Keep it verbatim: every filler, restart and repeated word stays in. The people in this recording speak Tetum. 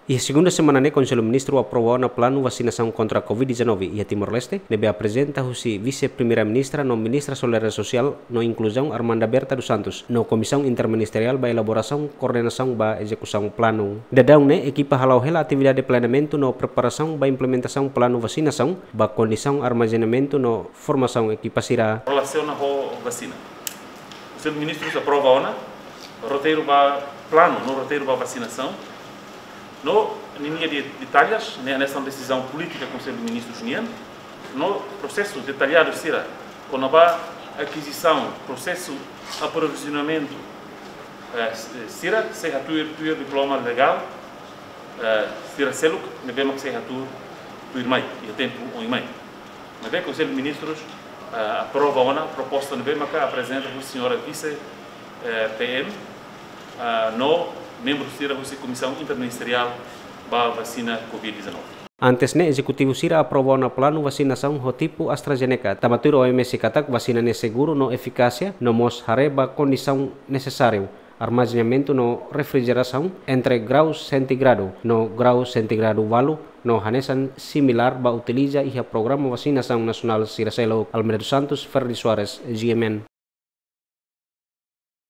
Iha segunda semana ne'e, Konsellu Ministru aprova ona planu vasinasaun kontra Covid dezanove iha Timor-Leste, ne'ebé aprezenta husi Vise-Primeira-Ministra no Ministra Solidariedade Sosiál no Inkluzaun, Armanda Berta dos Santos, no Komisaun Interministeriál ba elaborasaun koordenasaun ba ezekusaun planu. Daudaun ne'e, ekipa hala'o hela atividade planeamentu no preparasaun ba implementasaun planu vasinasaun, ba kondisaun armazenamentu no formasaun ekipa sira. Relasiona ho vasina, Konsellu Ministrus aprova ona roteiru ba planu no roteiru ba vasinasaun. No ninia de-, detalles, ne'e hanesan desizaun polítika Konsellu Ministrus nian. No prosesu detalladu sira kona-ba akizisaun, prosesu aprovizionamentu, eh, sira sei hatuir tuir diploma legál, eh, sira seluk ne'ebé mak sei hatuir tuirmai iha tempu oin mai. Ne'ebé Konsellu Ministrus, eh, aprova ona proposta ne'ebé maka aprezenta husi señora Vise, eh, P M, eh, no membru sira husi Komisaun Interministeriál ba vasina Covid dezanove. Antes ne'e, ezekutivu sira aprova ona planu vasinasaun ho tipu AstraZeneca, tanba tuir O M S katak vasina ne'e seguru no efikásia, no mós haree ba kondisaun nesesáriu, armazenamentu no refrigerasaun entre grau sentígradu no grau sentígradu ualu, no hanesan similár ba utiliza iha programa vasinasaun nasionál sira seluk. Almeida dos Santos, Ferdi Soares, G M N.